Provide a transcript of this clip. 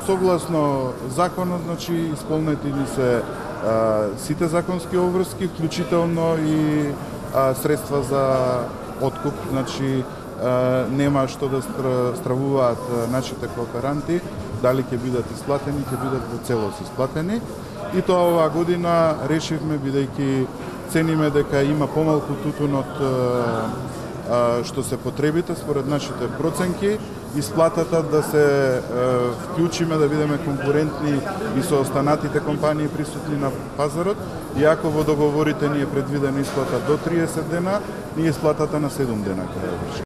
Согласно законот, значи, исполнети ни се сите законски обврски, вклучително и средства за откуп, значи нема што да стравуваат нашите кооперанти, дали ќе бидат исплатени, ќе бидат во целост исплатени. И тоа оваа година решивме, бидејќи цениме дека има помалку тутун од што се потребите според нашите проценки, исплатата да се вклучиме, да бидеме конкурентни и со останатите компании присутни на пазарот. Иако во договорите ни е предвидена исплата до 30 дена, ние исплатата на 7 дена ќе ја вршиме.